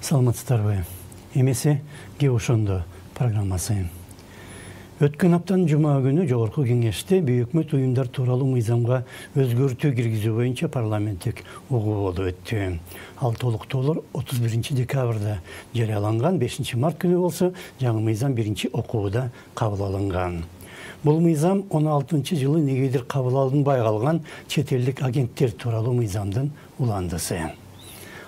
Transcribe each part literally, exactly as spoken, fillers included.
Саламатсыздарбы? Эмесе ке ошондо программасы. Өткөн аптанын жума күнү Жогорку Кеңеште Бейөкмөт уюмдар тууралуу мыйзамга өзгөртүү киргизүү боюнча парламенттик угуу болуп өттү. Ал толуктоолор отуз биринчи декабрда жарыяланган, бешинчи март күнү болсо жаңы мыйзам биринчи окууда кабыл алынган. Бул мыйзам он алтынчы жылы негедир кабыл алынбай калган чет элдик агенттер тууралуу мыйзамдын уландысы.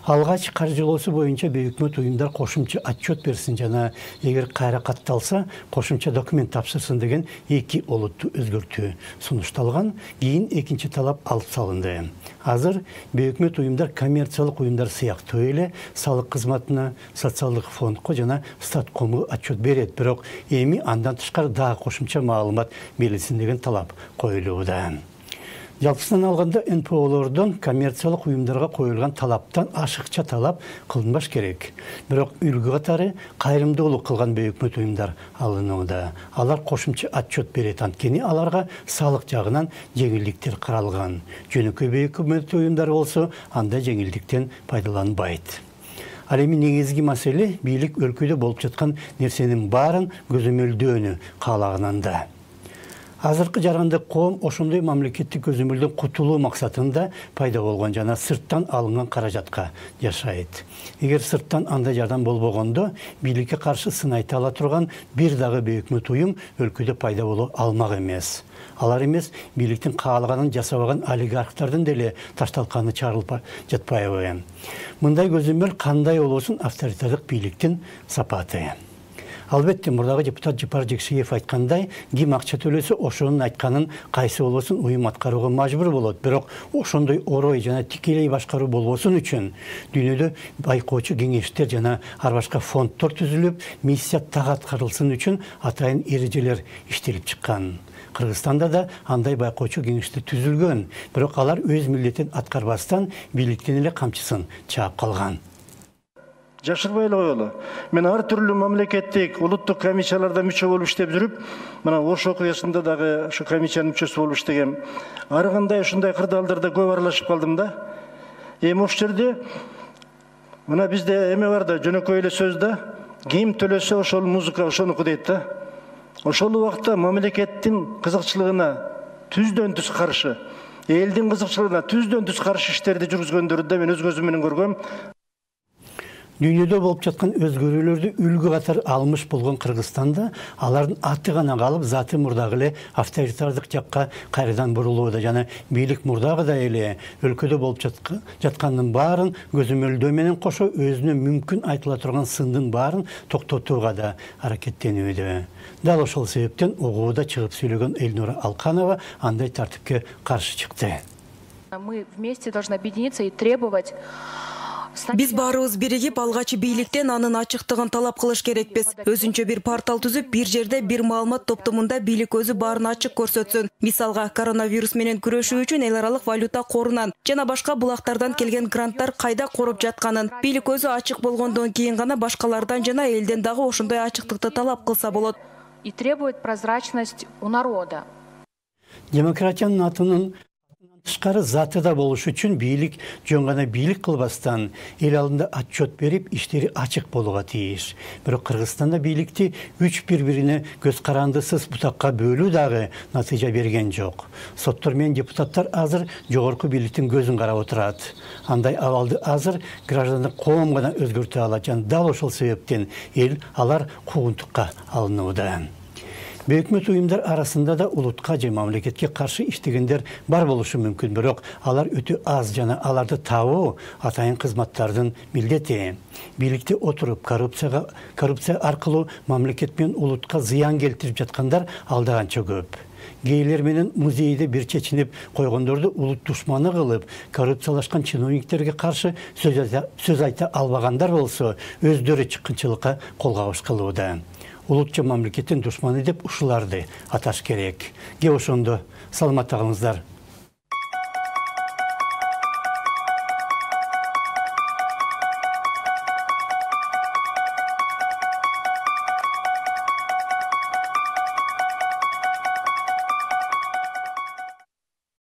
Алгач каржылоосу боюнча Бейөкмөт уюмдар кошумча отчет берсин жана эгер кайра катталса кошумча документ тапшырсын деген эки олуттуу өзгөртүү сунушталган. Кийин экинчи талап алып салынды. Азыр Бейөкмөт уюмдар коммерциялык уюмдар сыяктуу эле салык кызматына, социалдык фондко жана статкому отчет берет, бирок эми андан тышкары дагы кошумча маалымат берилсин деген талап коюлууда. Жалпысынан алганда эн пэ олордон коммерциялык уюмдарга коюлган талаптан ашыкча талап кылынбаш керек. Бирок үлгү катары кайрымдуулук кылган Бейөкмөт уюмдар алынууда. Алар кошумча отчет берет, анткени аларга салык жагынан жеңилдиктер каралган. Жөнөкөй Бейөкмөт уюмдар болсо андай жеңилдиктен пайдаланбайт. Ал эми негизги маселе бийлик өлкөдө болуп жаткан нерсенин баарын көзөмөлдөөнү каалаганында. Азыркы жарандык коом ошондой мамлекеттик көзөмөлдөн кутулуу максатында пайда болгон жана сырттан алынган каражатка жашайт. Эгер сырттан андай жардам болбогондо бийликке каршы сын айта ала турган бир дагы Бейөкмөт уюм өлкөдө пайда боло алмак эмес. Алар эмес бийликтин каалаганын жасабаган олигархтардын деле ташталканы чарылып жатпайбы? Мындай көзөмөл кандай болосун авторитардык бийликтин сапаты. Албетте, мурдагы депутат Жапар Жекшиев айткандай, ким акча төлөсө ошонун айтканын кайсы болбосун уюм аткарууга мажбур болот. Бирок ошондой орой жана тикелей башкаруу болбосун үчүн дүйнөдө байкоочу кеңештер жана ар башка фонддор түзүлүп, миссия так аткарылсын үчүн атайын эрежелер иштелип чыккан. Кыргызстанда да андай байкоочу кеңештер түзүлгөн, бирок алар өз милдетин аткарбастан бийликтин эле камчысын чаап калган. Жашырбай эле коелу. Мен ар түрлүү мамлекеттик улуттук комиссияларда мүчө болуп иштеп жүрүп, мына Ош окуясында дагы ушу комиссиянын мүчөсү болуп иштегем. Ар кандай ушундай кырдаалдарда көп аралашып калдым да. Эми ошол жерде мына бизде эме бар да, жөнөкөй эле сөз да, ким төлөсө ошол музыка ошонуку дейт да. Ошол убакта мамлекеттин кызыкчылыгына түздөн түз каршы, элдин кызыкчылыгына түздөн түз каршы иштерди жүргүзгөндөрдү да мен өз көзүм менен көргөм. Дүйнөдө болуп жаткан өзгөрүүлөрдү үлгү катары алмыш болгон Кыргызстанда алардын аты гана калып, заты мурдагы эле авторитардык жакка кайрадан бурулууда жана бийлик мурдагыдай эле өлкөдө болуп жаткандын баарын көзөмөлдөө менен кошо өзүнө мүмкүн айтыла турган сындын баарын токтотууга да аракеттенүүдө. Дал ошол себептен угууда чыгып сүйлөгөн Элнура Алканова андай тартипке каршы чыкты. Мы вместе должны объединиться и требовать. Биз баарыбыз биригип алгачы бийликтен анын ачыктыгын талап кылыш керекпиз. Өзүнчө бир портал түзүп, бир жерде бир маалымат топтомунда бийлик өзү баарын ачык көрсөтсүн. Мисалга, коронавирус менен күрөшүү үчүн эл аралык валюта корунан жана башка булактардан келген гранттар кайда короп жатканын бийлик өзү ачык болгондон кийин гана башкалардан жана элден дагы ошондой ачыктыкты талап кылса болот. И требует прозрачность у народа. Демократиянын атынын тышкары заты да болуш үчүн бийлик жөн гана бийлик кылбастан эл алдында отчет берип, иштери ачык болууга тийиш. Бирок Кыргызстанда бийликти үч бири-бирине көз карандысыз бутакка бөлүү дагы натыйжа берген жок. Соттор менен депутаттар азыр жогорку бийликтин көзүн карап отурат. Андай абалды азыр граждандык коом гана өзгөртө алат жана дал ошол себептен эл алар куугунтукка алынууда. Бейөкмөт уюмдар арасында да улутка же мамлекетке каршы иштегендер бар болушу мүмкүн, бирок алар өтө аз жана аларды табуу атайын кызматтардын милдети. Бийликте отуруп коррупцияга коррупция аркылуу мамлекет менен улутка зыян келтирип жаткандар алдаганча көп. Гейлер менен музейде бир чечинип койгондорду улут душманы кылып, коррупциялашкан чиновниктерге каршы сөз айта албагандар болсо, өздөрү чыккынчылыкка кол кабыш кылууда. Улутча мамлекеттин душманы деп ушуларды аташ керек. Ке ошондо саламат калыңыздар.